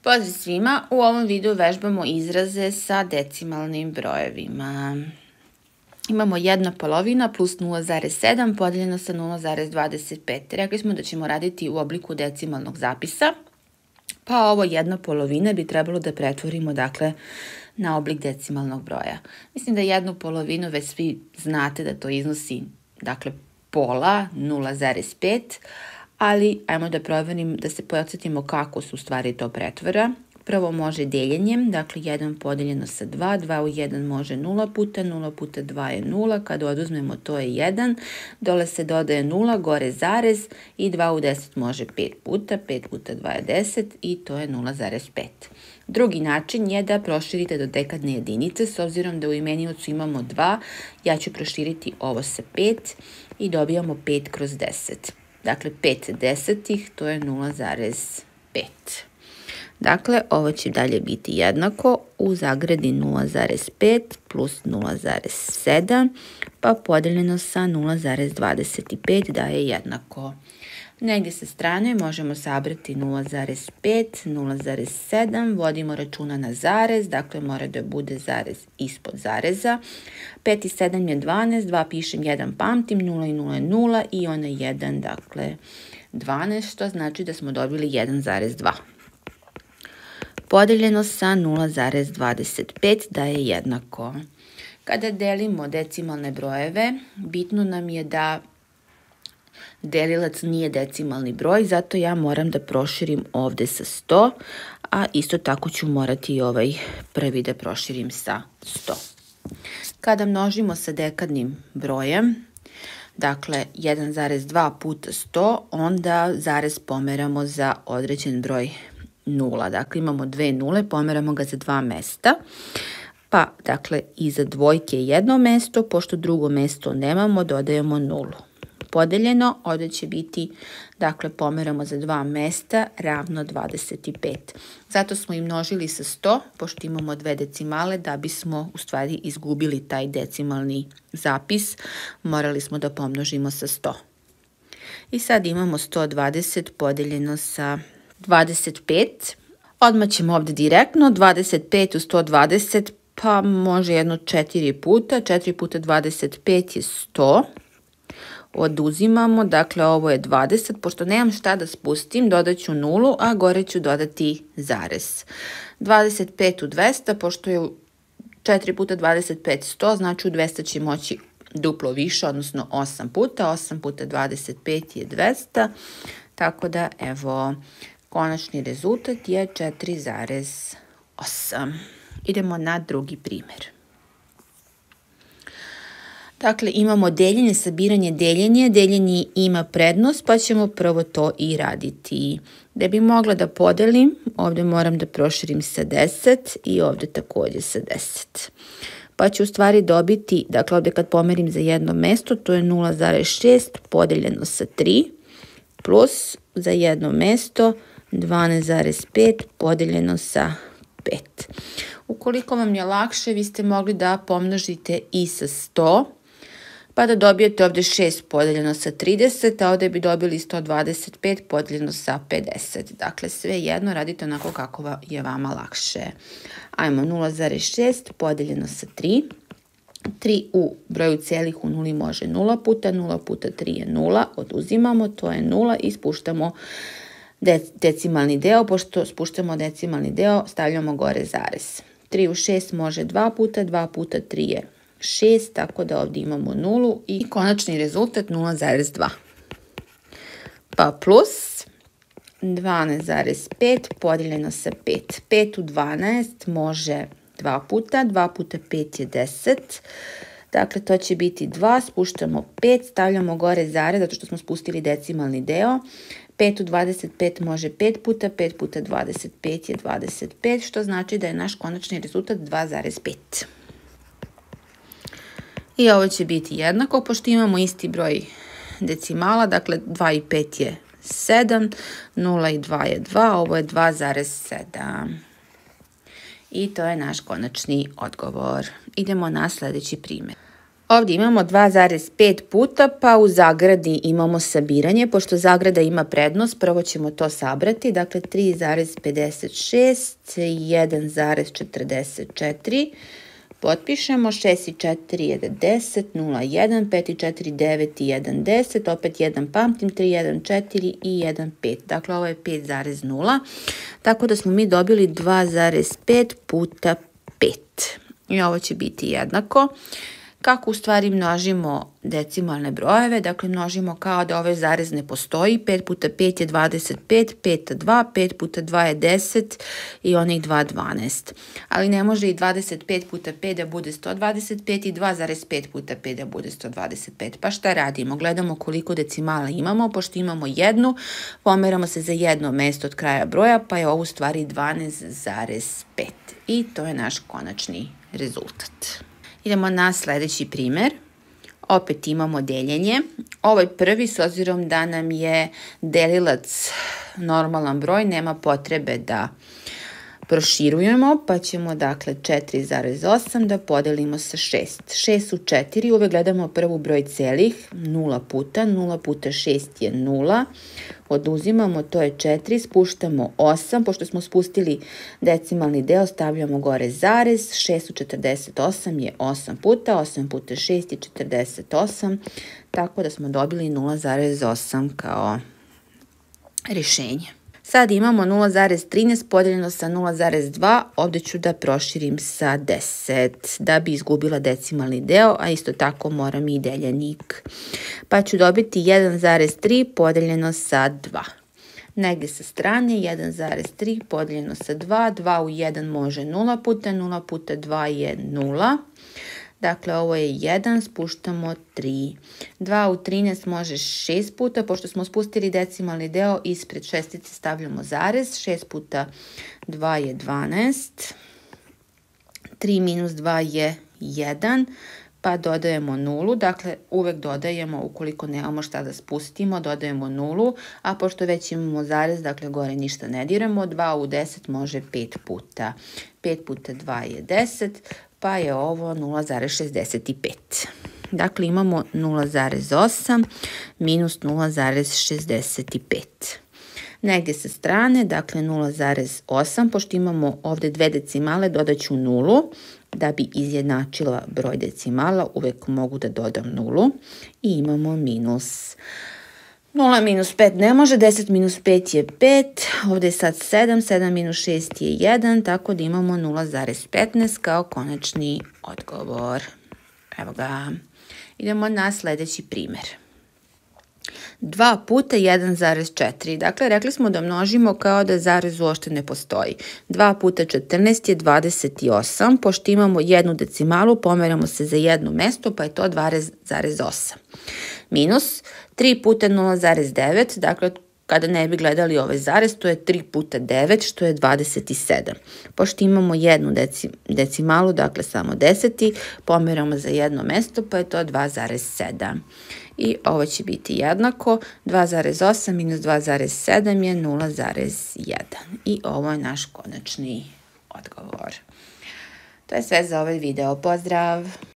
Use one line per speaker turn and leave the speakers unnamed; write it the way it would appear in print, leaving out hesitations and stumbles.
Pozdrav svima, u ovom videu vežbamo izraze sa decimalnim brojevima. Imamo 1/2 plus 0,7 podijeljeno sa 0,25. Rekli smo da ćemo raditi u obliku decimalnog zapisa, pa ovo 1/2 bi trebalo da pretvorimo dakle na oblik decimalnog broja. Mislim da 1/2 već svi znate da to iznosi dakle pola 0,5, ali ajmo da proverim, da se podsjetimo kako su u stvari to pretvora. Prvo može deljenjem, dakle 1 podijeljeno sa 2, 2 u 1 može 0 puta, 0 puta 2 je 0, kada oduzmemo to je 1, dole se dodaje 0, gore zarez i 2 u 10 može 5 puta, 5 puta 2 je 10 i to je 0,5. Drugi način je da proširite do dekadne jedinice, s obzirom da u imeniocu imamo 2, ja ću proširiti ovo sa 5 i dobijamo 5 kroz 10. Dakle, 5 desetih, to je 0,5. Dakle, ovo će dalje biti jednako u zagradi 0,5 plus 0,7, pa podijeljeno sa 0,25 daje jednako. Negdje sa strane možemo sabrati 0,5, 0,7, vodimo računa na zarez, dakle mora da bude zarez ispod zareza. 5 i 7 je 12, 2 pišem, 1 pamtim, 0 i 0 je 0 i ona 1, dakle 12, što znači da smo dobili 1,2. Podijeljeno sa 0,25 daje jednako. Kada delimo decimalne brojeve, bitno nam je da delilac nije decimalni broj, zato ja moram da proširim ovde sa 100, a isto tako ću morati i ovaj prvi da proširim sa 100. Kada množimo sa dekadnim brojem, dakle 1,2 puta 100, onda zarez pomeramo za određen broj nula. Dakle, imamo dve nule, pomeramo ga za 2 mesta. Pa, dakle, iza dvojke je jedno mesto, pošto drugo mesto nemamo, dodajemo nulu. Podeljeno, ovdje će biti, dakle, pomeramo za 2 mesta, ravno 25. Zato smo i množili sa 100, pošto imamo dve decimale, da bismo u stvari izgubili taj decimalni zapis, morali smo da pomnožimo sa 100. I sad imamo 120 podeljeno sa 25. Odmah ćemo ovdje direktno, 25 u 120, pa može jedno 4 puta, 4 puta 25 je 100. Oduzimamo, dakle ovo je 20, pošto nemam šta da spustim, dodat ću nulu, a gore ću dodati zarez. 25 u 200, pošto je 4 puta 25 100, znači u 200 će moći duplo više, odnosno 8 puta, 8 puta 25 je 200, tako da evo, konačni rezultat je 4,8. Idemo na drugi primjer. Dakle, imamo deljenje, sabiranje, deljenje. Deljenje ima prednost, pa ćemo prvo to i raditi. Da bi mogla da podelim, ovdje moram da proširim sa 10 i ovdje također sa 10. Pa ću u stvari dobiti, dakle ovdje kad pomerim za jedno mesto, to je 0,6 podeljeno sa 3, plus za jedno mesto 12,5 podeljeno sa 5. Ukoliko vam je lakše, vi ste mogli da pomnožite i sa 100, pa da dobijete ovdje 6 podeljeno sa 30, a ovdje bi dobili 125 podeljeno sa 50. Dakle, sve jedno radite onako kako je vama lakše. Ajmo, 0,6 podeljeno sa 3. 3 u broju celih u nuli može 0 puta, 0 puta 3 je 0, oduzimamo, to je 0 i spuštamo decimalni deo, pošto spuštamo decimalni deo, stavljamo gore zarez. 3 u 6 može 2 puta, 2 puta 3 je 6, tako da ovdje imamo nulu i konačni rezultat 0,2. Pa plus 12,5 podijeljeno sa 5. 5 u 12 može 2 puta, 2 puta 5 je 10. Dakle, to će biti 2, spuštamo 5, stavljamo gore zarez, zato što smo spustili decimalni deo. 5 u 25 može 5 puta, 5 puta 25 je 25, što znači da je naš konačni rezultat 2,5. I ovo će biti jednako, pošto imamo isti broj decimala, dakle 2 i 5 je 7, 0 i 2 je 2, ovo je 2,7. I to je naš konačni odgovor. Idemo na sljedeći primjer. Ovdje imamo 2,5 puta, pa u zagradi imamo sabiranje. Pošto zagrada ima prednost, prvo ćemo to sabrati. Dakle, 3,56, 1,44. Potpišemo, 6 i 4 je 10, 0, 1, 5 i 4, 9 i 1, 10, opet 1 pamtim, 3, 1, 4 i 1, 5. Dakle, ovo je 5,0. Tako da smo mi dobili 2,5 puta 5. I ovo će biti jednako. Kako u stvari množimo decimalne brojeve? Dakle, množimo kao da ovaj zarez ne postoji. 5 puta 5 je 25, 5 2, 5 puta 2 je 10 i onih 2 12. Ali ne može i 25 puta 5 da bude 125 i 2,5 puta 5 da bude 125. Pa šta radimo? Gledamo koliko decimala imamo. Pošto imamo jednu, pomeramo se za jedno mesto od kraja broja, pa je ovo u stvari 12,5. I to je naš konačni rezultat. Idemo na sljedeći primjer. Opet imamo deljenje. Ovaj prvi, s obzirom da nam je delilac normalan broj, nema potrebe da proširujemo, pa ćemo dakle 4,8 da podelimo sa 6. 6 u 4, uvek gledamo prvu broj celih, 0 puta 6 je 0. Oduzimamo, to je 4, spuštamo 8, pošto smo spustili decimalni deo, stavljamo gore zarez, 6 u 48 je 8 puta, 8 puta 6 je 48, tako da smo dobili 0,8 kao rješenje. Sad imamo 0,13 podeljeno sa 0,2, ovdje ću da proširim sa 10 da bi izgubila decimalni deo, a isto tako moram i deljenik. Pa ću dobiti 1,3 podeljeno sa 2. Negdje sa strane 1,3 podeljeno sa 2, 2 u 1 može 0 puta, 0 puta 2 je 0. Dakle, ovo je 1, spuštamo 3. 2 u 13 može 6 puta, pošto smo spustili decimalni deo, ispred šestice stavljamo zarez. 6 puta 2 je 12. 3 minus 2 je 1, pa dodajemo 0. Dakle, uvek dodajemo, ukoliko nemamo šta da spustimo, dodajemo 0. A pošto već imamo zarez, dakle, gore ništa ne diramo. 2 u 10 može 5 puta. 5 puta 2 je 10. Pa je ovo 0,65. Dakle, imamo 0,8 minus 0,65. Negdje sa strane, dakle 0,8, pošto imamo ovdje dve decimale, dodat ću 0. Da bi izjednačila broj decimala, uvek mogu da dodam 0. I imamo minus. 0 minus 5 ne može, 10 minus 5 je 5, ovdje je sad 7, 7 minus 6 je 1, tako da imamo 0,15 kao konačni odgovor. Evo ga. Idemo na sljedeći primjer. 2 puta 1,4. Dakle, rekli smo da množimo kao da zarez uopšte ne postoji. 2 puta 14 je 28. Pošto imamo jednu decimalu, pomeramo se za jedno mesto, pa je to 2,8. Minus 3 puta 0,9. Dakle, kada ne bi gledali ovaj zarez, to je 3 puta 9, što je 27. Pošto imamo jednu decimalu, dakle samo deseti, pomeramo za jedno mesto, pa je to 2,7. I ovo će biti jednako, 2,8 minus 2,7 je 0,1. I ovo je naš konačni odgovor. To je sve za ovaj video. Pozdrav!